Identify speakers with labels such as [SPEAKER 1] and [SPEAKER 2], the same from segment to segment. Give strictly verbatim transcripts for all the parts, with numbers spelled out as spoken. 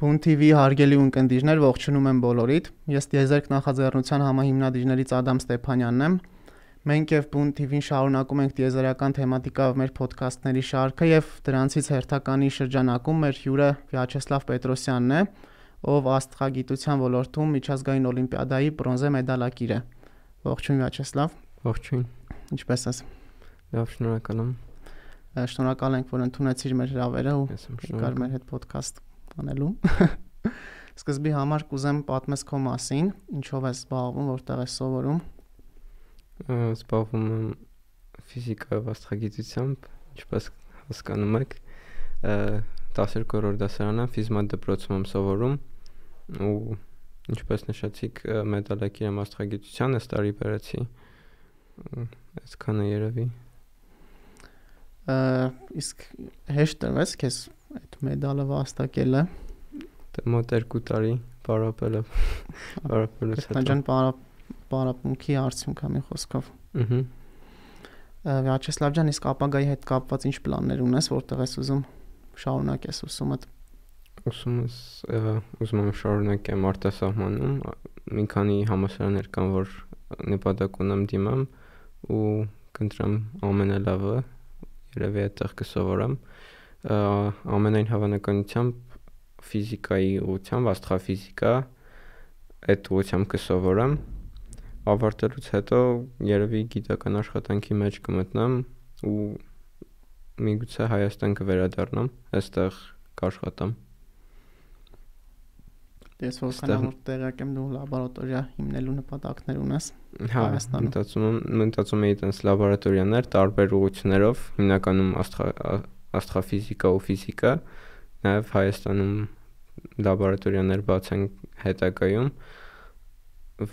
[SPEAKER 1] Բուն թի վի հարգելի ունկնդիրներ, ողջունում եմ բոլորիդ։ Ես Տիեզերք նախաձեռնության համահիմնադիրներից Ադամ Ստեփանյանն եմ։ Մենք եւ Բուն թի վին շարունակում ենք տիեզերական թեմատիկայով մեր ոդքասթների շարքը եւ դրանցից հերթականի շրջանակում մեր հյուրը Վյաչեսլավ Պետրոսյանն է, ով աստղագիտության ոլորտում միջազգային օլիմպիադայի բրոնզե մեդալակիր է։ Ողջույն Վյաչեսլավ։
[SPEAKER 2] Ողջույն։
[SPEAKER 1] Ինչպե՞ս ես։
[SPEAKER 2] Լավ, շնորհակալ եմ։
[SPEAKER 1] Շնորհակալ ենք, որ ընդունեցիր մեր հրավերը ու եկար մեր հետ ոդքասթ անելու։ Սկզբի համար կուզեմ պատմես քո մասին, ինչով ես զբաղվում, որտեղ ես սովորում։
[SPEAKER 2] Զբաղվում եմ ֆիզիկայով աստղագիտությամբ, ինչպես հասկանում եք, տասներկու դասարանը ֆիզմատ դպրոցում եմ սովորում ու ինչպես նշեցիք, մեդալակիր եմ աստղագիտության, այս տարի բերեցի։ Այսքանը երևի։
[SPEAKER 1] Իսկ հեշտ տրվեց քեզ այդ մեդալը վաստակելը։
[SPEAKER 2] Դե մոտ երկու տարի պարապել եմ։ Պարապելուց հետո։
[SPEAKER 1] Ջան պարապմունքի արդյունք է մի խոսքով։
[SPEAKER 2] Ըհը։
[SPEAKER 1] Վյաչեսլավ ջան, իսկ ապագայի հետ կապված ինչ պլաններ ունես, որտեղ ես ուզում շարունակես ուսումդ։
[SPEAKER 2] Ուսումս ուզում եմ շարունակեմ արտասահմանում, մի քանի համալսարաններ կան, որ նպատակ ունեմ դիմեմ ու կընտրեմ ամենալավը, երևի այդտեղ կսովորեմ։ Ամենայն հավանականությամբ ֆիզիկայի ուղղությամբ, աստղաֆիզիկա, այդ ուղղությամբ կսովորեմ։ Ավարտելուց հետո երևի գիտական աշխատանքի մեջ կմտնեմ ու միգուցե Հայաստան կվերադառնամ, այստեղ կաշխատեմ։
[SPEAKER 1] Ես որքան որ տեղյակ եմ, դու լաբորատորիա հիմնելու նպատակներ ունես
[SPEAKER 2] Հայաստանում։ Մտածում եմ, մտածում եի տենց լաբորատորիաներ տարբեր ուղղություններով, հիմնականում աստղաֆիզիկա ու ֆիզիկա, նաև Հայաստանում լաբորատորիաներ բացեն հետագայում,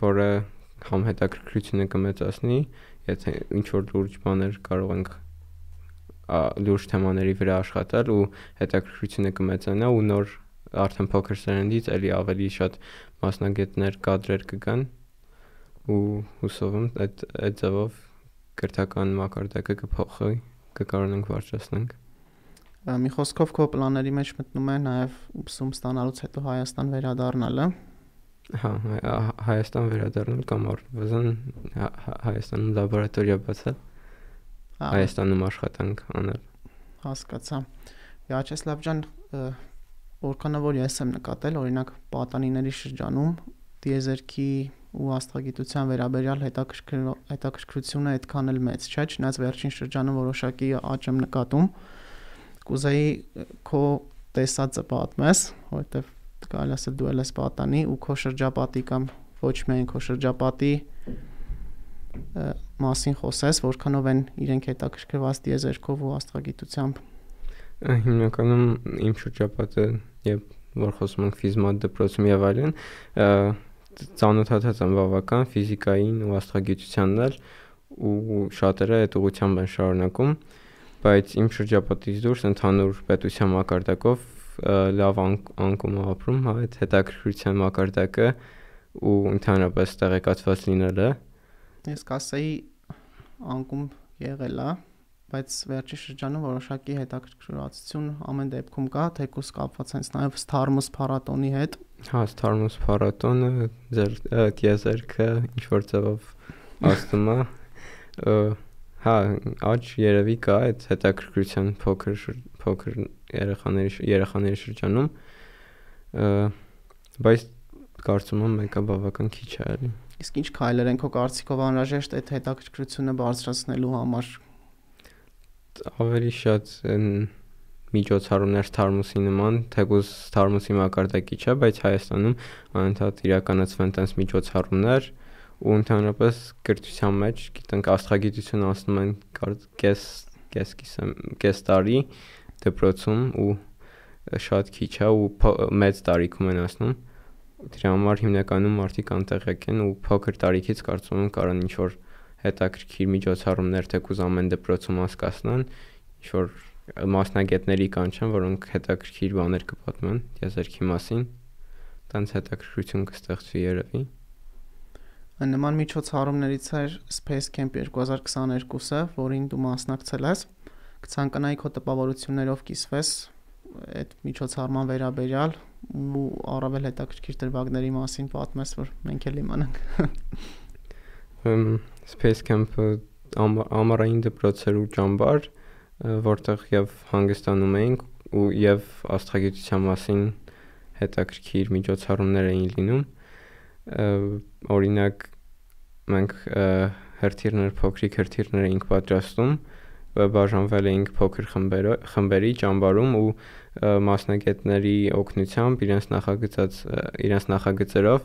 [SPEAKER 2] որը համ հետաքրքրությունը կմեծացնի, եթե ինչ-որ լուրջ բաներ կարող ենք լուրջ թեմաների վրա աշխատել ու հետաքրքրությունը կմեծանա ու նոր արդեն փոքր սերնդից էլի ավելի շատ մասնագետներ, կադրեր կգան ու հուսով եմ այդ այդ ձևով կրթական մակարդակը կփոխվի, կկարողանանք բարձրացնենք։
[SPEAKER 1] Մի խոսքով քո պլանների մեջ մտնում է նաև ուսում ստանալուց հետո Հայաստան վերադառնալը։
[SPEAKER 2] Հա, Հայաստան վերադառնալ կամ առնվազն Հայաստանում լաբորատորիա բացել, Հայաստանում աշխատանք անել։
[SPEAKER 1] Հասկացա։ Վյաչեսլավ ջան, որքանով որ ես եմ նկատել, օրինակ պատանիների շրջանում տիեզերքի ու աստղագիտության վերաբերյալ հետաքրքրությունը այդքան էլ մեծ չէ, չնայած վերջին շրջանում որոշակի աճ եմ նկատում։ Կուզեի քո տեսածը պատմես, որովհետև կարելի ասել դու ես պատանի ու քո շրջապատի կամ ոչ միայն քո շրջապատի մասին խոսես, որքանով են իրենք հետաքրքրված տիեզերքով ու աստղագիտությամբ։
[SPEAKER 2] Հիմնականում իմ շրջապատը, երբ որ խոսում ենք ֆիզմատ դպրոցում եւ այլն, ծանոթացած եմ բավական ֆիզիկային ու աստղագիտությանն էլ ու շատերը այդ ուղղությամբ են շարունակում, բայց իմ շրջապատից դուրս ընդհանուր պետության մակարդակով լավ անկում ապրում, հա, այդ հետաքրքրության մակարդակը ու ընդհանրապես տեղեկացված լինելը։
[SPEAKER 1] Ես կասեի անկում եղել է, բայց վերջի շրջանում որոշակի հետաքրքրվածություն ամեն դեպքում կա, թեկուզ կապված հենց նաև Starmus փառատոնի հետ։
[SPEAKER 2] Հա, Starmus փառատոնը, ձեր տիեզերքը ինչ որ ձևով աստում է։ Հա, աճ երևի կա այդ հետաքրքրության փոքր փոքր երեխաների երեխաների շրջանում, բայց կարծում եմ մեկը բավական քիչ է էլի։
[SPEAKER 1] Իսկ ինչ քայլեր են քո կարծիքով անհրաժեշտ այդ հետաքրքրությունը բարձրացնելու համար։
[SPEAKER 2] Ավելի շատ միջոցառումներ Starmus-ի նման, թեկուզ Starmus-ի մակարդակի չէ, բայց Հայաստանում անընդհատ իրականացվեն տես միջոցառումներ ու ընդհանրապես կրթության մեջ, գիտենք, աստղագիտություն անցնում են կես կես կես տարի դպրոցում ու շատ քիչ է ու մեծ տարիքում են անցնում։ Դրա համար հիմնականում մարդիկ անտեղյակ են ու փոքր տարիքից կարծում եմ կարող ինչ որ հետաքրքիր միջոցառումներ թեկուզ ամեն դպրոցում անցկացնեն, ինչ որ մասնագետների կանչեն, որոնք հետաքրքիր բաներ կպատմեն տիեզերքի մասին, տենց հետաքրքրություն կստեղծվի երևի։
[SPEAKER 1] Նման միջոցառումներից էր Space Camp երկու հազար քսաներկուսը, որին դու մասնակցել ես։ Կցանկանայի քո տպավորություններով կիսվես այդ միջոցառման վերաբերյալ ու առավել հետաքրքիր դրվագների մասին պատմես, որ մենք էլ իմանանք։
[SPEAKER 2] Space Camp-ը ամառային դպրոց էր ու ճամբար, որտեղ եւ հանգստանում էինք ու եւ աստղագիտության մասին հետաքրքիր միջոցառումներ էին լինում։ Օրինակ մենք հրթիռներ, փոքրիկ հրթիռներ էինք պատրաստում, բաժանվել էինք փոքր խմբերի ճամբարում ու մասնագետների օգնությամբ իրենց նախագծած իրենց նախագծերով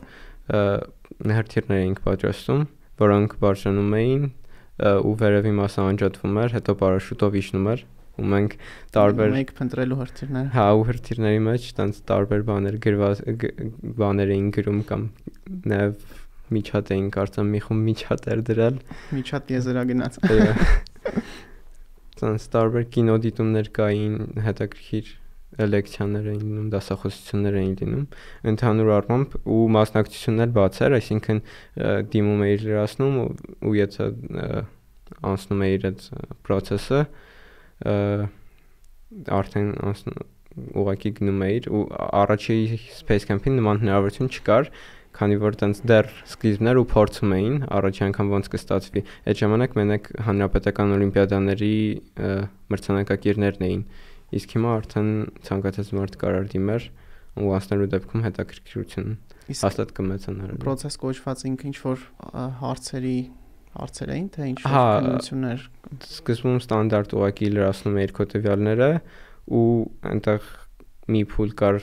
[SPEAKER 2] հրթիռներ էինք պատրաստում, որոնք բարձրանում էին ու վերևի մասը անջատվում էր, հետո պարաշուտով իջնում էր ու մենք տարբեր
[SPEAKER 1] մեկ փնտրելու հրթիռներ։
[SPEAKER 2] Հա, ու հրթիռների մեջ տենց տարբեր բաներ գրված բաներ էին գրում կամ նաև միջատ էին կարծեմ մի խումբ միջատ էր դրել։
[SPEAKER 1] Միջատ եզերագնաց։
[SPEAKER 2] Տենց տարբեր կինոդիտումներ կային, հետաքրքիր լեկցիաներ էին լինում, դասախոսություններ էին լինում, ընդհանուր առմամբ ու մասնակցություններ բաց էր, այսինքն դիմում էիր լրացնում ու եթե անցնում էիր այդ process-ը, արդեն ուղղակի գնում էիր ու առաջի Space Camp-ին նման հնարավորություն չկար, քանի որ տենց դեռ սկիզբն էր ու փորձում էին առաջի անգամ ոնց կստացվի։ Այդ ժամանակ մենակ հանրապետական օլիմպիադաների մրցանակակիրներն էին, իսկ հիմա արդեն ցանկացած մարդ կարող դիմեր ու անցնելու դեպքում հետաքրքրություն հաստատ կմեծանար։
[SPEAKER 1] Process կոչված ինքը ինչ որ հարցերի հարցեր էին, թե ինչ որ քննություններ։
[SPEAKER 2] Սկզբում ստանդարտ ուղղակի լրացնում էիր քո տվյալները ու այնտեղ մի փուլ կար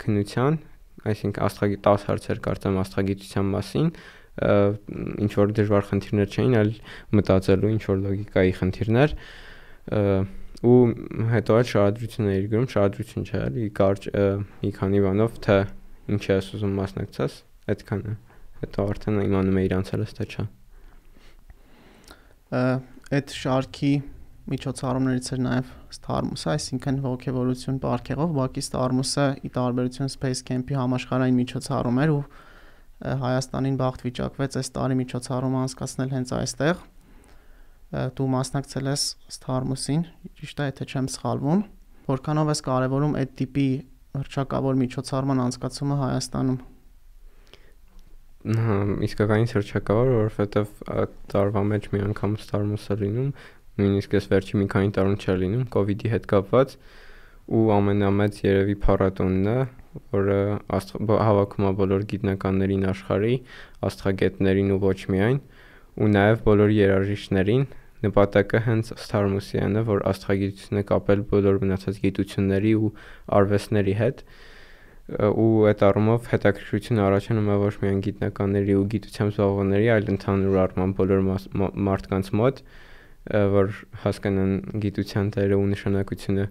[SPEAKER 2] քննության, այսինքն աստղագիտ դես հարցեր կարծեմ աստղագիտության մասին, ինչ որ դժվար խնդիրներ չէին, այլ մտածելու ինչ որ լոգիկայի խնդիրներ ու հետո էլ շարադրություն էիր գրում, շարադրություն չէ, էլի կարճ մի քանի բանով թե ինչ ես ուզում մասնակցես, այդքանը։ Հետո արդեն իմանում էիր անցելս թե չէ։
[SPEAKER 1] Այդ շարքի միջոցառումներից էր նաև Starmus-ը, այսինքն ողջևորություն պարգևով, բակի Starmus-ը ի տարբերություն Space Camp-ի համաշխարհային միջոցառում էր ու Հայաստանին բախտ վիճակվեց այս տարի միջոցառումը անցկացնել հենց այստեղ։ Դու մասնակցել ես Starmus-ին, ճիշտ է, եթե չեմ սխալվում, որքանով ես կարևորում այդ տիպի հռչակավոր միջոցառման անցկացումը Հայաստանում։
[SPEAKER 2] Հա, իսկականից հռչակավոր, որովհետև տարվա մեջ մի անգամ Starmus-ը լինում, նույնիսկ այս վերջի մի քանի տարում չէր լինում COVID-ի հետ կապված ու ամենամեծ երևի փառատոնն է, որը հավաքում է բոլոր գիտնականներին աշխարհի, աստղագետներին ու ոչ միայն, ու նաև բոլոր երաժիշտներին։ Նպատակը հենց Starmus-ին է, որ աստղագիտությունը կապել բոլոր մնացած գիտությունների ու արվեստների հետ ու այդ առումով հետաքրքրություն առաջանում է ոչ միայն գիտնականների ու գիտությամբ զբաղվողների, այլ ընդհանուր առմամբ բոլոր մարդկանց մոտ, որ հասկանան գիտության տերը ու նշանակությունը։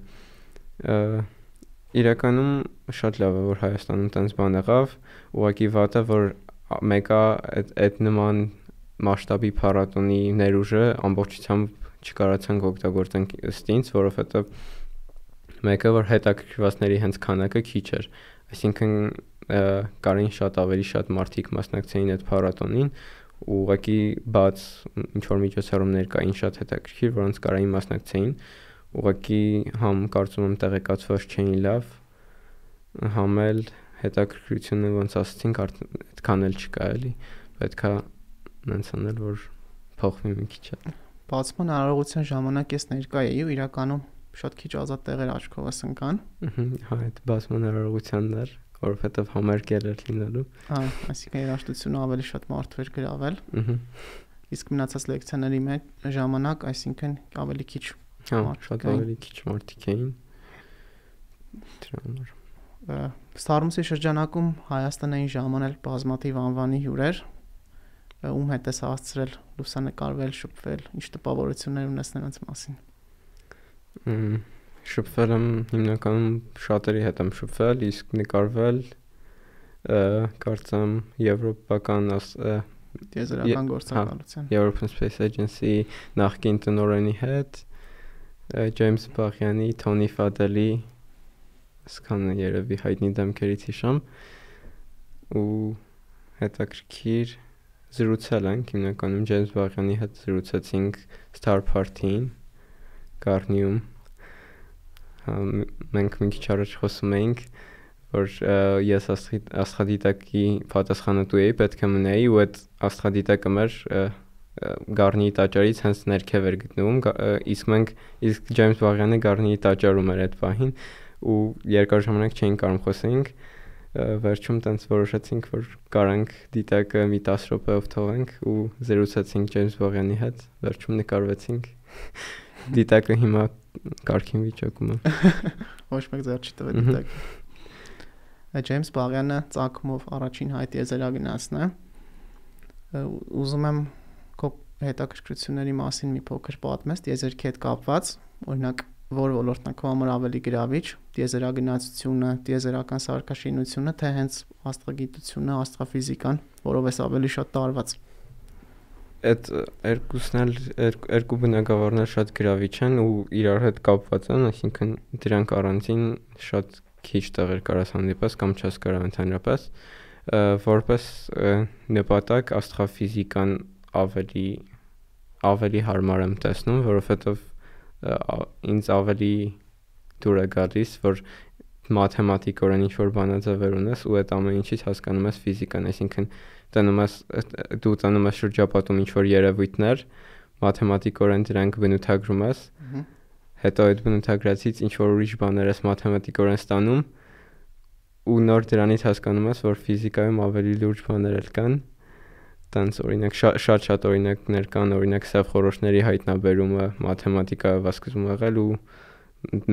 [SPEAKER 2] Իրականում շատ լավ է, որ Հայաստանում տենց բան եղավ, ուղղակի վատը, որ մեկը այդ նման մասշտաբի փառատոնի ներուժը ամբողջությամբ չկարողացանք օգտագործենք ըստինց, որովհետև մեկը որ հետաքրքրվածների հենց քանակը քիչ էր, այսինքն կարին շատ ավելի շատ մարդիկ մասնակցեին այդ փառատոնին ու ուղղակի բաց ինչ որ միջոցառումներ կային շատ հետաքրքիր, որոնց կարային մասնակցեին, ուղղակի համ կարծում եմ տեղեկացված չէին լավ, համ էլ հետաքրքրությունը ոնց ասացինք այդքան էլ չկա էլի, պետքա նենց անել, որ փոխվի մի քիչ։
[SPEAKER 1] Բացման հնարավորության ժամանակ ես ներկա էի ու իրականում շատ քիչ ազատ տեղեր աչքովս ընկան։
[SPEAKER 2] Հա, այդ բացման հնարավորությունն էր, որովհետև համերգ էր լինելու։
[SPEAKER 1] Հա, այսինքն երաժշտությունը ավելի շատ մարդու էր գրավել։ Իսկ մնացած լեկցիաների մեջ ժամանակ, այսինքն ավելի քիչ
[SPEAKER 2] շատ ավելի քիչ մարդիկ էին։
[SPEAKER 1] Starmus-ի շրջանակում Հայաստանային ժամանել բազմաթիվ անվանի հյուրեր, ում հետ ես հասցրել լուսանկարվել, շփվել, ինչ տպավորություններ ունես նրանց մասին։
[SPEAKER 2] Շփվել եմ հիմնականում շատերի հետ եմ շփվել, իսկ նկարվել կարծեմ եվրոպական
[SPEAKER 1] տիեզերական գործակալության
[SPEAKER 2] European Space Agency նախկին տնօրենի հետ, Ջեյմս Բախյանի, Թոնի Ֆադելի, սկանը երևի հայտնի դեմքերից հիշամ ու հետաքրքիր զրուցել ենք, հիմնականում Ջեյմս Բախյանի հետ զրուցեցինք Star Party-ին, Գառնիում, մենք մի քիչ առաջ խոսում էինք, որ ես աստղադիտակի պատասխանատու էի, պետք է մնայի ու այդ աստղադիտակը մեր Գառնիի տաճարից հենց ներքև էր գտնվում, իսկ մենք իսկ Ջեյմս Բաղյանը Գառնիի տաճարում էր այդ պահին ու երկար ժամանակ չէինք կարող խոսենք, վերջում տենց որոշեցինք, որ կարանք դիտակը մի տասը րոպեով թողենք ու զրուցեցինք Ջեյմս Բաղյանի հետ, վերջում նկարվեցինք։ Դիտակը հիմա կարգին վիճակում է։
[SPEAKER 1] Ոչ մեկ ձեռ չի տվել դիտակը։ Ջեյմս Բաղյանը ծագումով առաջին հայ տիեզերագնացն է։ Ուզում եմ քո հետաքրքրությունների մասին մի փոքր պատմես տիեզերքի հետ կապված, օրինակ որ ոլորտն է քո համար ավելի գրավիչ, տիեզերագնացությունը, տիեզերական սարքաշինությունը, թե հենց աստղագիտությունը, աստղաֆիզիկան, որով էս ավելի շատ տարված։
[SPEAKER 2] Այդ երկուսն էլ երկու բնագավառն էլ շատ գրավիչ են ու իրար հետ կապված են, այսինքն դրանք առանցին շատ քիչ տեղեր կարաս հանդիպես կամ չես կարող ընդհանրապես, որպես նպատակ աստղաֆիզիկան ավելի ավելի հարմար եմ տեսնում, որովհետև ինձ ավելի դուր է գալիս, որ մաթեմատիկորեն ինչ-որ բանաձևեր ունես ու այդ ամեն ինչից հասկանում ես ֆիզիկան, այսինքն տնում ես դու տնում ես շրջապատում ինչ-որ երևույթներ, մաթեմատիկորեն դրանք բնութագրում ես, հետո այդ բնութագրածից ինչ-որ ուրիշ բաներ ես մաթեմատիկորեն ստանում ու նոր դրանից հասկանում ես, որ ֆիզիկայում ավելի լուրջ բաներ էլ կան, տենց օրինակ շատ-շատ օրինակներ կան, օրինակ սև խորհուրդների հայտնաբերումը մաթեմատիկայով սկզբում եղել ու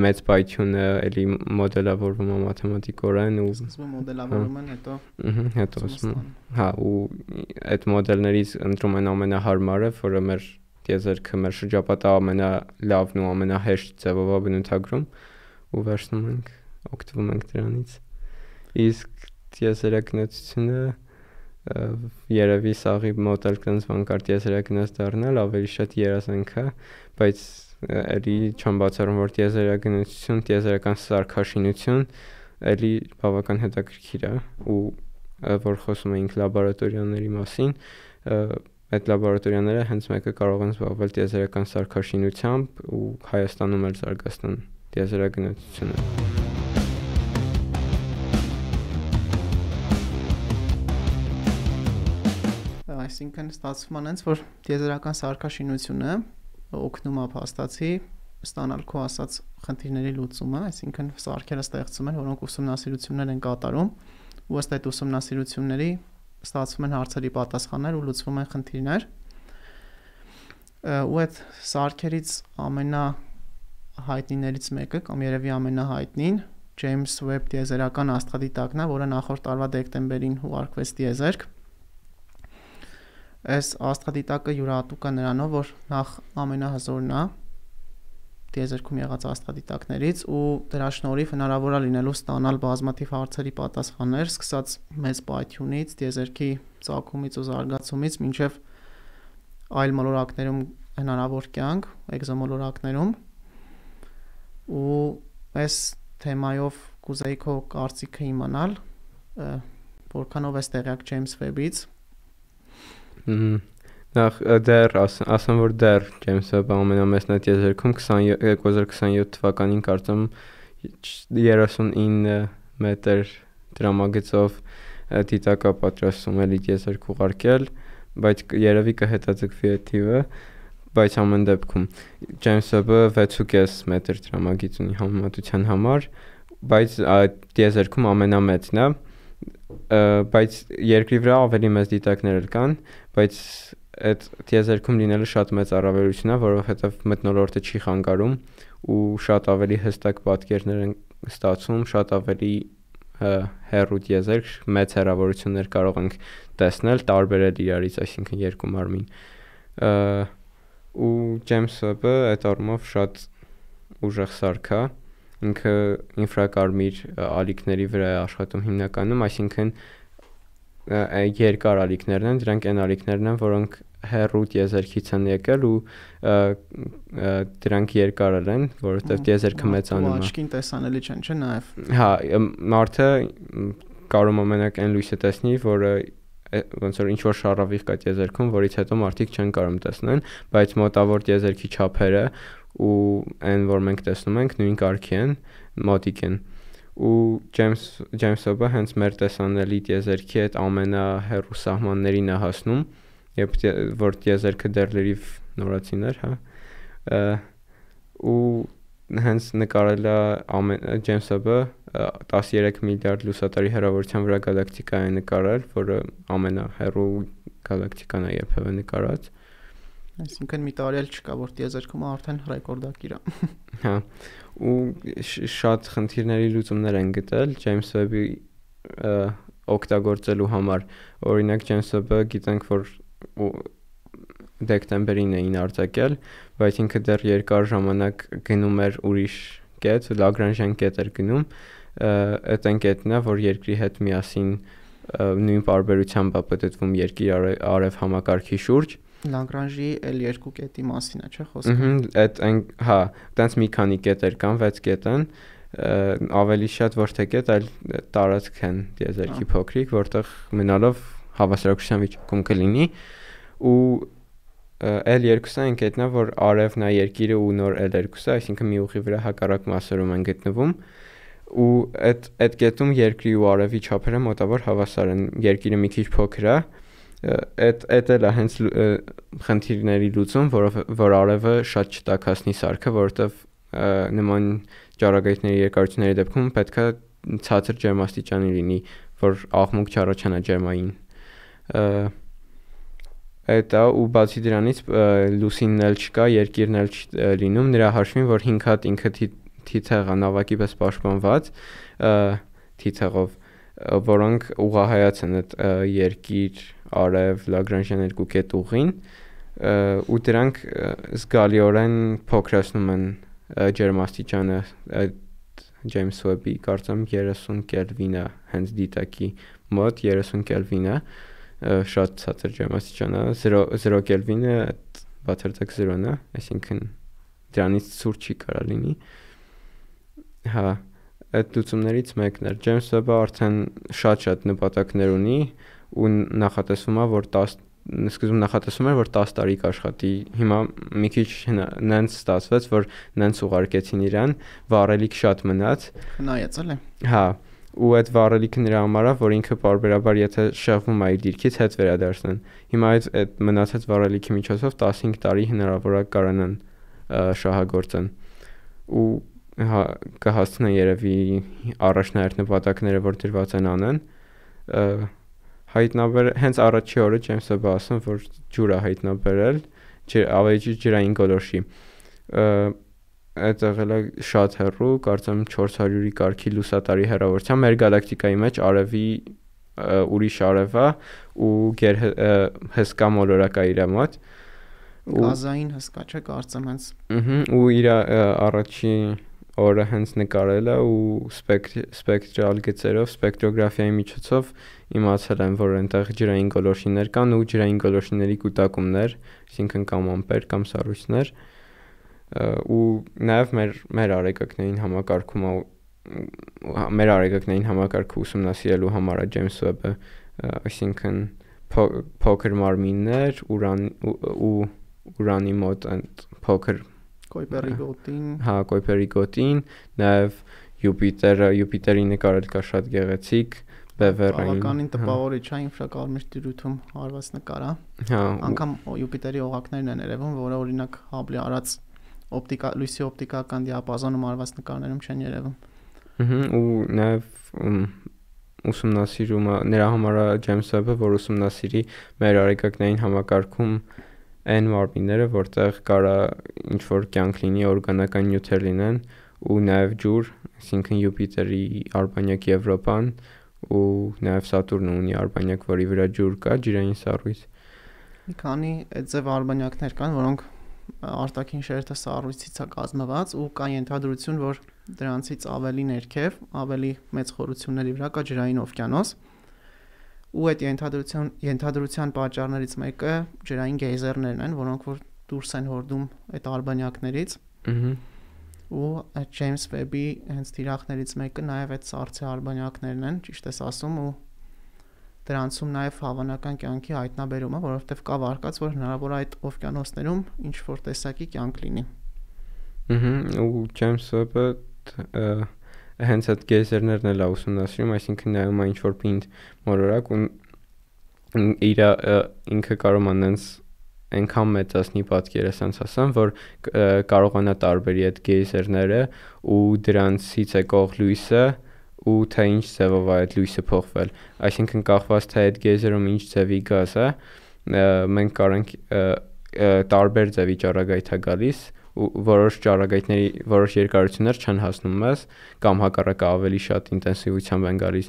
[SPEAKER 2] մեծ պայթյունը էլի մոդելավորվում է մաթեմատիկորեն ու
[SPEAKER 1] սկզբում մոդելավորում են, հետո
[SPEAKER 2] հետո հա ու այդ մոդելներից ընտրում են ամենահարմարը, որը մեր տիեզերքը մեր շրջապատը ամենալավն ու ամենահեշտ ձևով է բնութագրում ու վերցնում ենք, օգտվում ենք դրանից։ Իսկ տիեզերագնացությունը երևի սաղի մոտ էլ կնց բան կար տիեզերագնաց դառնալ, ավելի շատ երազանք է, բայց էլի չեմ բացառում, որ տիեզերագնացություն, տիեզերական սարքաշինություն էլի բավական հետաքրքիր է ու որ խոսում էինք լաբորատորիաների մասին, այդ լաբորատորիաները հենց մեկը կարող են զբաղվել տիեզերական սարքաշինությամբ ու Հայաստանում էլ զարգացնեն տիեզերագնացությունը։
[SPEAKER 1] Այսինքն ստացվում է այնց, որ տիեզերական սարքաշինությունը օգնում է փաստացի ստանալ քո ասած խնդիրների լուծումը, այսինքն սարքերը ստեղծում են, որոնք ուսումնասիրություններ են կատարում, ու ըստ այդ ուսումնասիրությունների ստացվում են հարցերի պատասխաններ ու լուծվում են խնդիրներ։ Ու այդ սարքերից ամենահայտնիներից մեկը կամ երևի ամենահայտնին Ջեյմս Վեբ տիեզերական աստղադիտակն է, որը նախորդ տարվա դեկտեմբերին ուղարկվեց տիեզերք։ Այս աստղադիտակը յուրահատուկ է նրանով, որ նախ ամենահզորն է տիեզերքում եղած աստղադիտակներից ու դրա շնորհիվ հնարավոր է լինելու ստանալ բազմաթիվ հարցերի պատասխաններ, սկսած մեծ պայթյունից, տիեզերքի ծագումից ու զարգացումից մինչև այլ մոլորակներում հնարավոր կյանք, էկզոմոլորակներում։ Ու այս թեմայով կուզեի քո կարծիքը իմանալ, որքանով ես տեղյակ Ջեյմս Վեբից։
[SPEAKER 2] Նախ դեռ ասեմ, որ դեռ Ջեյմս Վեբը ամենամեծն է տիեզերքում, երկու հազար քսաներկու թվականին կարծեմ երեսունինը մետր դրամագծով դիտակ է պատրաստում էլի տիեզերք ուղարկել, բայց երևի կհետաձգվի այդ թիվը, բայց ամեն դեպքում Ջեյմս Վեբը վեց ու կես մետր դրամագիծ ունի համեմատության համար, բայց տիեզերքում ամենամեծն է, բայց երկրի վրա ավելի մեծ դիտակներ էլ կան, բայց այդ տիեզերքում լինելը շատ մեծ առավելություն է, որովհետև մթնոլորտը չի խանգարում ու շատ ավելի հստակ պատկերներ են ստացվում, շատ ավելի հեռու տիեզերք, մեծ հեռավորություններ կարող ենք տեսնել, տարբերել իրարից, այսինքն երկու մարմին։ Ու Ջեյմս Վեբը այդ առումով շատ ուժեղ սարք է, ինքը ինֆրակարմիր ալիքների վրա է աշխատում հիմնականում, այսինքն երկար ալիքներն են, դրանք այն ալիքներն են, որոնք հեռու տիեզերքից են եկել ու դրանք երկար են, որովհետև տիեզերքը մեծանում է։
[SPEAKER 1] Աչքին տեսանելի չեն, չէ՞ նաև։
[SPEAKER 2] Հա, մարդը կարող է մենակ այն լույսը տեսնի, որը ոնց որ ինչ որ շարավիղ կա տիեզերքում, որից հետո մարդիկ չեն կարող տեսնեն, բայց մոտավոր տիեզերքի չափերը ու այն, որ մենք տեսնում ենք, նույն կարգի են, մոտիկ են։ ու James James Webb-ը հենց մեր տեսանելի տիեզերքի այդ ամենահեռու սահմաններին է հասնում, երբ որ տիեզերքը դեռ լրիվ նորացին էր, հա, ու հենց նկարել է James Webb-ը տասներեք միլիարդ լուսատարի հեռավորության վրա գալակտիկա է նկարել, որը ամենահեռու գալակտիկան է երբևէ նկարած։
[SPEAKER 1] Այսինքն մի տարի էլ չկա, որ տիեզերքում արդեն ռեկորդակիր է։
[SPEAKER 2] Հա, ու շատ խնդիրների լուծումներ են գտել James Webb-ի օգտագործելու համար։ Օրինակ James Webb-ը գիտենք, որ դեկտեմբերին էին արձակել, բայց ինքը դեռ երկար ժամանակ գնում էր ուրիշ կետ, Lagrangian կետ էր գնում, այդ այն կետն է, որ երկրի հետ միասին նույն պարբերությամբ է պատտվում երկիր արև համակարգի շուրջ։
[SPEAKER 1] Lagrange-ի L երկու կետի մասին է, չէ՞ խոսքը։
[SPEAKER 2] Ահա, այդ այն, հա, տենց մի քանի կետեր կան, վեց կետ են, ավելի շատ ոչ թե կետ, այլ տարածք են տիեզերքի փոքրիկ, որտեղ մնալով հավասարակշռության վիճակում կլինի, ու L երկուսը այն կետն է, որ արևն է երկիրը ու նոր L երկուսը, այսինքն մի ուղի վրա հակառակ մասերում են գտնվում, ու այդ այդ կետում երկրի ու արևի չափերը մոտավոր հավասար են, երկիրը մի քիչ փոքր է, այդ այդ էլ է հենց խնդիրների լուծում, որով որ արևը շատ չտաքացնի սարքը, որովհետև նման ճառագայթների երկարությունների դեպքում պետք է ցածր ջերմաստիճանի լինի, որ աղմուկ չառաջանա ջերմային։ Այդ է, ու բացի դրանից լուսինն էլ չկա, երկիրն էլ չի լինում, նրա հաշվին, որ հինգ հատ ինքը թիթեղ է նավակի պես պաշտպանված թիթեղով, որոնք ուղղահայաց են այդ երկիր արև Lagrangian երկու կետ ուղին, ու դրանք զգալիորեն փոքրացնում են ջերմաստիճանը այդ James Webb-ի, կարծեմ երեսուն կելվին է, հենց դիտակի մոտ երեսուն կելվին է, շատ ցածր ջերմաստիճան է, զրո կելվինը բացարձակ զրոն է, այսինքն դրանից ցուրտ չի կարա լինի։ Հա, այդ լուծումներից մեկն էր։ James Webb-ը արդեն շատ-շատ նպատակներ ունի ու նախատեսվում է, որ տասը սկզբում նախատեսվում էր, որ տասը տարի կաշխատի, հիմա մի քիչ նենց ստացվեց, որ նենց ուղարկեցին իրան, վառելիք շատ մնաց։
[SPEAKER 1] Խնայեց էլի։
[SPEAKER 2] Հա, ու այդ վառելիքը նրա համար է, որ ինքը պարբերաբար եթե շեղվում է իր դիրքից, հետ վերադարձնեն։ Հիմա այդ այդ մնացած վառելիքի միջոցով տասնհինգ տարի հնարավոր է կարողանան շահագործեն։ Ու հա կհասցնեն երևի առաջնահերթ նպատակները, որ դրված են անեն, հայտնաբեր հենց առաջի օրը James Webb-ը ասում, որ ջուր է հայտնաբերել, ավելի ջրային գոլորշի։ Այդ եղել է շատ հեռու, կարծեմ չորս հարյուրի կարգի լուսատարի հեռավորության, մեր գալակտիկայի մեջ արևի ուրիշ արև է ու հսկա մոլորակ է իր մոտ։
[SPEAKER 1] Գազային հսկա չէ, կարծեմ հենց։
[SPEAKER 2] Ահա, ու իր առաջի օրը հենց նկարել է ու սպեկտրալ գծերով, սպեկտրոգրաֆիայի միջոցով իմացել են, որ այնտեղ ջրային գոլորշիներ կան ու ջրային գոլորշիների կուտակումներ, այսինքն կամ ամպեր կամ սառույցներ, ու նաև մեր մեր արեգակներին համակարգում մեր արեգակներին համակարգը ուսումնասիրելու համար է James Webb-ը, այսինքն փոքր մարմիններ, ուրան ու ուրանի մոտ այդ փոքր
[SPEAKER 1] Կոյպերի գոտին։
[SPEAKER 2] Հա, Կոյպերի գոտին, նաև Յուպիտերը, Յուպիտերի նկարել կա շատ գեղեցիկ, բևեռային։
[SPEAKER 1] Բավականին տպավորիչ է ինֆրակարմիր տիրույթում արված նկար է։
[SPEAKER 2] Հա,
[SPEAKER 1] անգամ Յուպիտերի օղակներն են երևում, որը օրինակ Հաբլի արած օպտիկա լույսի օպտիկական դիապազոնում արված նկարներում չեն երևում։
[SPEAKER 2] Ահա, ու նաև ուսումնասիրում նրա համար է James Webb-ը, որ ուսումնասիրի մեր արեգակներին համակարգում այն մարմինները, որտեղ կարա ինչ որ կյանք լինի, օրգանական նյութեր լինեն ու նաև ջուր, այսինքն Յուպիտերի արբանյակ Եվրոպան ու նաև Սատուրնը ունի արբանյակ, որի վրա ջուր կա, ջրային սառույց։
[SPEAKER 1] Մի քանի այդ ձև արբանյակներ կան, որոնք արտաքին շերտը սառույցից է կազմված ու կա ենթադրություն, որ դրանցից ավելի ներքև, ավելի մեծ խորությունների վրա կա ջրային օվկիանոս։ Ու այդ ենթադրության ենթադրության պատճառներից մեկը ջրային գեյզերներն են, որոնք որ դուրս են հորդում այդ արբանյակներից։
[SPEAKER 2] Ահա։
[SPEAKER 1] Ու այդ James Webb-ի հենց թիրախներից մեկը նաև այդ սառցե արբանյակներն են, ճիշտ ես ասում, ու դրանցում նաև հավանական կյանքի հայտնաբերումը, որովհետև կա վարկած, որ հնարավոր է այդ օվկիանոսներում ինչ որ տեսակի կյանք լինի։
[SPEAKER 2] Ահա, ու James Webb-ը հենց այդ գեյզերներն էլ ուսումնասիրում, այսինքն նայում է ինչ-որ պինդ մոլորակ ու իր ինքը կարող անենց այնքան մեծացնի պատկերը, ասենց ասեմ, որ կարողանա տարբերի այդ գեյզերները ու դրանցից եկող լույսը ու թե ինչ ձևով է այդ լույսը փոխվել։ Այսինքն կախված թե այդ գեյզերում ինչ ձևի գազ է, մենք կարող տարբեր ձևի ճառագայթ է գալիս ու որոշ ճառագայթների որոշ երկարություններ չեն հասնում մեզ կամ հակառակը ավելի շատ ինտենսիվությամբ են գալիս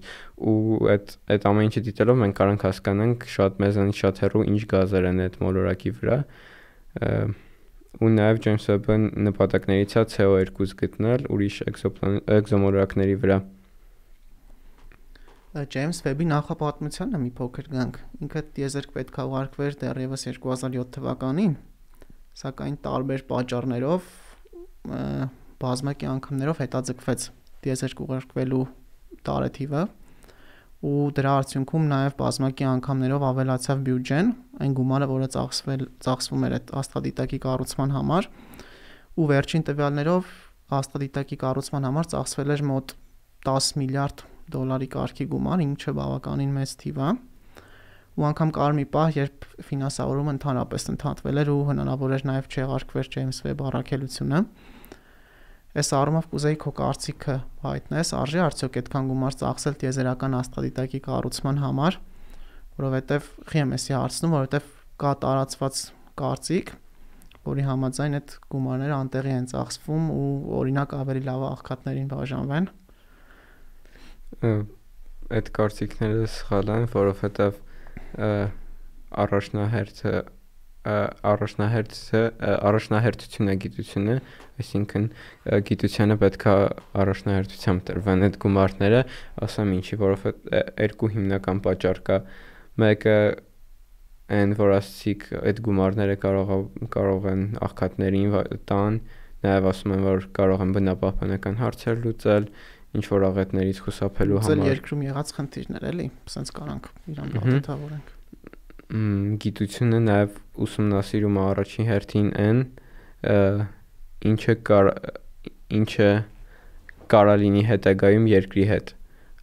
[SPEAKER 2] ու այդ այդ ամեն ինչը դիտելով մենք կարող ենք հասկանանք շատ մեզանից շատ հեռու ինչ գազեր են այդ մոլորակի վրա ու նաև Ջեյմս Վեբը նպատակներից է C O two գտնել ուրիշ էկզոմոլորակների վրա։
[SPEAKER 1] Ջեյմս Վեբի նախապատմությանը մի փոքր գանք։ Ինքը տիեզերք պետք է ուղարկվեր դեռևս two thousand seven թվականին, սակայն տարբեր պատճառներով բազմակի անգամներով հետաձգվեց տիեզերք ուղարկվելու տարեթիվը ու դրա արդյունքում նաև բազմակի անգամներով ավելացավ բյուջեն, այն գումարը, որը ծախսվել ծախսվում էր այդ աստղադիտակի կառուցման համար ու վերջին տվյալներով աստղադիտակի կառուցման համար ծախսվել էր մոտ ten միլիարդ դոլարի կարգի գումար, ինչը բավականին մեծ թիվ է։ Ու անգամ կար մի պահ, երբ ֆինանսավորումը ընդհանրապես ընդհատվել էր ու հնարավոր էր նաև չեղարկվեր Ջեյմս Վեբ առաքելությունը։ Այս առումով կուզեի քո կարծիքը հայտնես, արժի արդյոք այդքան գումար ծախսել տիեզերական աստղադիտակի կառուցման համար, որովհետև խի եմ էսի հարցնում, որովհետև կա տարածված կարծիք, որի համաձայն այդ գումարները անտեղի են ծախսվում ու օրինակ ավելի լավ աղքատներին բաժանվեն։
[SPEAKER 2] Այդ կարծիքները սխալ են, որովհետև առաջնահերթը առաջնահերթը առաջնահերթությունը գիտությունը, այսինքն գիտությանը պետք է առաջնահերթությամբ տրվեն այդ գումարները, ասեմ ինչի, որովհետև երկու հիմնական պատճառ կա։ Մեկը այն, որ ասացիք այդ գումարները կարող կարող են աղքատներին տան, նաև ասում են, որ կարող են բնապահպանական հարցեր լուծել, ինչ որ աղետներից խուսափելու համար։
[SPEAKER 1] Լուծել երկրում եղած խնդիրներ էլի, ասենց կարանք իրան բացատրենք։
[SPEAKER 2] Գիտությունը նաև ուսումնասիրում է առաջին հերթին այն, ինչը կար ինչը կարա լինի հետագայում երկրի հետ։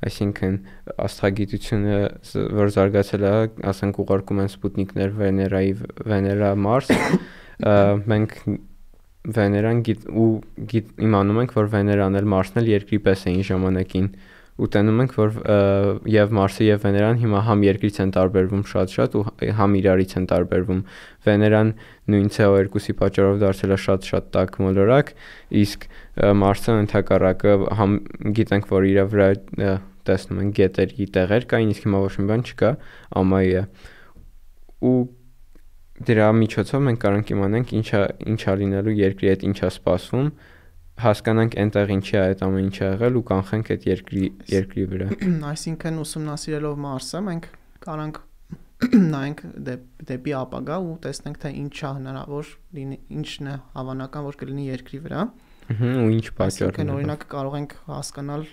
[SPEAKER 2] Այսինքն աստղագիտությունը, որ զարգացել է, ասենք ուղարկում են սպուտնիկներ Վեներայի Վեներա Մարս, մենք Վեներան գիտ ու գիտ իմանում ենք, որ Վեներան էլ Մարսն էլ երկրի պես էին ժամանակին ու տենում ենք, որ եւ Մարսը եւ Վեներան հիմա համ երկրից են տարբերվում շատ-շատ ու համ իրարից են տարբերվում։ Վեներան նույն C O two-ի պատճառով դարձել է շատ-շատ տաք մոլորակ, իսկ Մարսը ընդհակառակը համ գիտենք, որ իր վրա տեսնում են գետերի տեղեր կային, իսկ հիմա ոչ մի բան չկա, ամայի է։ Ու դրա միջոցով մենք կարող ենք իմանանք ինչա ինչա լինելու երկրի հետ ինչա սպասվում, հասկանանք այնտեղ ինչի է այդ ամեն ինչը եղել ու կանխենք այդ երկրի երկրի վրա։
[SPEAKER 1] Այսինքն ուսումնասիրելով Մարսը մենք կարանք նայենք դեպի ապագա ու տեսնենք թե ինչ է հնարավոր լինի, ինչն է հավանական որ կլինի երկրի վրա։
[SPEAKER 2] Ու ինչ պատճառներ։
[SPEAKER 1] Այսինքն օրինակ կարող ենք հասկանալ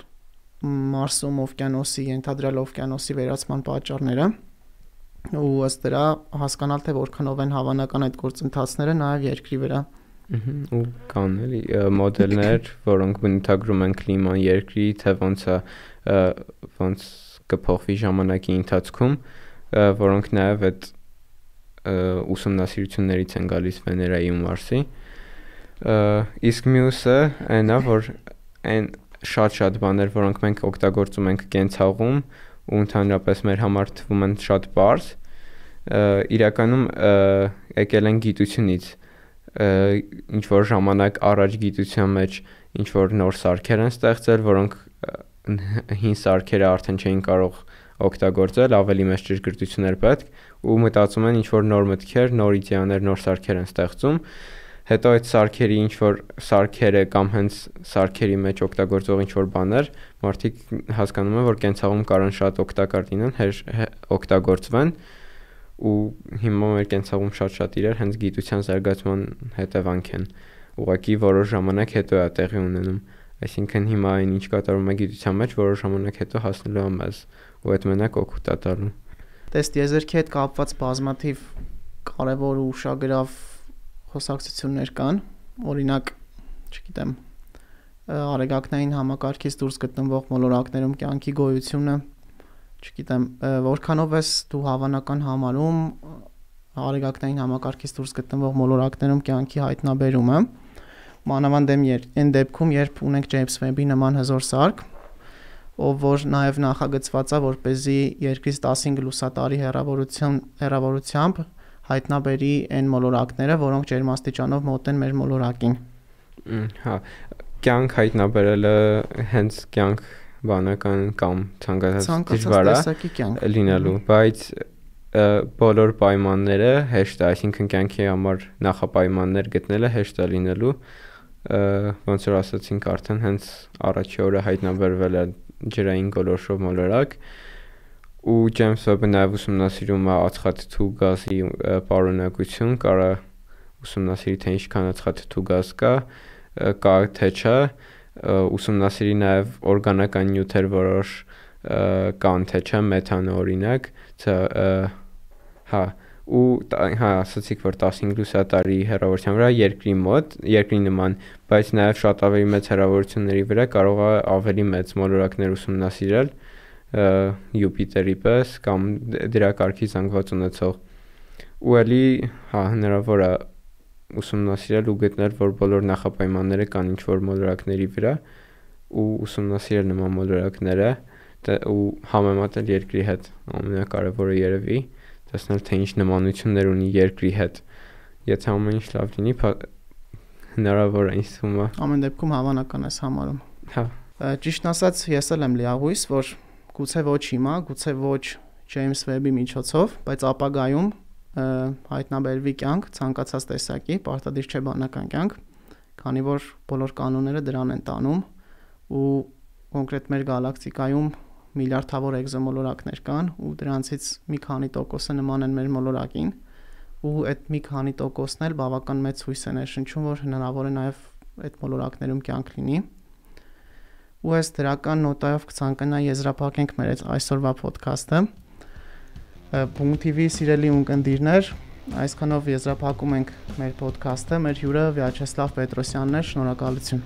[SPEAKER 1] Մարսում օվկիանոսի, ենթադրյալ օվկիանոսի վերացման պատճառները ու ըստ դրա հասկանալ թե որքանով են հավանական այդ գործընթացները նաև երկրի վրա։
[SPEAKER 2] Ու կան էլի մոդելներ, որոնք բնութագրում են կլիման երկրի, թե ոնց է ոնց կփոխվի ժամանակի ընթացքում, որոնք նաև այդ ուսումնասիրություններից են գալիս Վեներայի ու Մարսի։ Իսկ մյուսը այն է, որ այն շատ-շատ բաներ, որոնք մենք օգտագործում ենք կենցաղում ու ընդհանրապես մեր համար թվում են շատ པարզ, իրականում եկել են գիտությունից, ինչ որ ժամանակ առաջ գիտության մեջ ինչ որ նոր սարքեր են ստեղծել, որոնք հին սարքերը արդեն չէին կարող օգտագործել, ավելի մեծ ճշգրտություն էր պետք ու մտածում են ինչ որ նոր մտքեր, նոր իդեաներ, նոր սարքեր են ստեղծում։ Հետո այդ սարքերի ինչ որ սարքերը կամ հենց սարքերի մեջ օգտագործող ինչ որ բաներ, մարդիկ հասկանում են, որ կենցաղում կարան շատ օգտակար լինեն, օգտագործվեն ու հիմա մեր կենցաղում շատ-շատ իրար հենց գիտության զարգացման հետևանք են։ Ուղղակի որոշ ժամանակ հետո է տեղի ունենում։ Այսինքն հիմա այն ինչ կատարվում է գիտության մեջ, որոշ ժամանակ հետո հասնելու է մեզ ու այդ մենակ օգուտ է տալու։
[SPEAKER 1] Տես տիեզերքի հետ կապված բազմաթիվ կարևոր ու ուշագրավ խոսակցություններ կան, օրինակ, չգիտեմ, արեգակնային համակարգից դուրս գտնվող մոլորակներում կյանքի գոյությունը, չգիտեմ, որքանով ես դու հավանական համարում արեգակնային համակարգից դուրս գտնվող մոլորակներում կյանքի հայտնաբերումը, մանավանդ այն դեպքում, երբ ունենք Ջեյմս Վեբի նման հզոր սարք, ով որ նաև նախագծված է, որպեսզի երկրից տասնհինգ լուսատարի հեռավորության հեռավորությամբ հայտնաբերի այն մոլորակները, որոնք ջերմաստիճանով մոտ են մեր մոլորակին։
[SPEAKER 2] Հա, կյանք հայտնաբերելը հենց կյանք բանական կամ ցանկացած դժվար է լինելու, բայց բոլոր պայմանները հեշտ է, այսինքն կյանքի համար նախապայմաններ գտնելը հեշտ է լինելու, ոնց որ ասացինք արդեն հենց առաջի օրը հայտնաբերվել է ջրային գոլորշով մոլորակ ու Ջեյմս Վեբը նաև ուսումնասիրում է ածխաթթու գազի պարունակություն, կարա ուսումնասիրի թե ինչքան ածխաթթու գազ կա, կա թե չէ, ուսումնասիրի նաև օրգանական նյութեր որոշ կան թե չէ, մեթանը օրինակ, հա, ու հա, ասացիք, որ տասնհինգ լուսատարի հեռավորության վրա երկրի մոտ, երկրի նման, բայց նաև շատ ավելի մեծ հեռավորությունների վրա կարող է ավելի մեծ մոլորակներ ուսումնասիրել Յուպիտերի պես կամ դրա կարգի զանգված ունեցող ու էլի հա հնարավոր է ուսումնասիրել ու գտնել, որ բոլոր նախապայմանները կան ինչ-որ մոլորակների վրա ու ուսումնասիրել նման մոլորակները ու համեմատել երկրի հետ ամենակարևորը երևի տեսնել թե ինչ նմանություններ ունի երկրի հետ եթե ամեն ինչ լավ լինի հնարավոր է ինձ թվում է
[SPEAKER 1] ամեն դեպքում հավանական ես համարում
[SPEAKER 2] հա
[SPEAKER 1] ճիշտն ասած ես էլ եմ լիահույս որ գուցե ոչ հիմա գուցե ոչ Ջեյմս Վեբի միջոցով բայց ապագայում հայտնաբերվի կյանք ցանկացած տեսակի պարտադիր չէ բանական կյանք քանի որ բոլոր կանոնները դրան են տանում ու կոնկրետ մեր գալակտիկայում միլիարդավոր էկզոմոլորակներ կան ու դրանցից մի քանի տոկոսը նման են մեր մոլորակին ու այդ մի քանի տոկոսն էլ բավական մեծ հույս է ներշնչում որ հնարավոր է նաև այդ մոլորակներում կյանք լինի ու այս դրական նոտայով կցանկանայի եզրափակենք մեր այսօրվա ոդքասթը Punkt T V սիրելի ունկնդիրներ այսքանով եզրափակում ենք մեր ոդքասթը մեր հյուրը Վիաչեսլավ Պետրոսյանն էր շնորհակալություն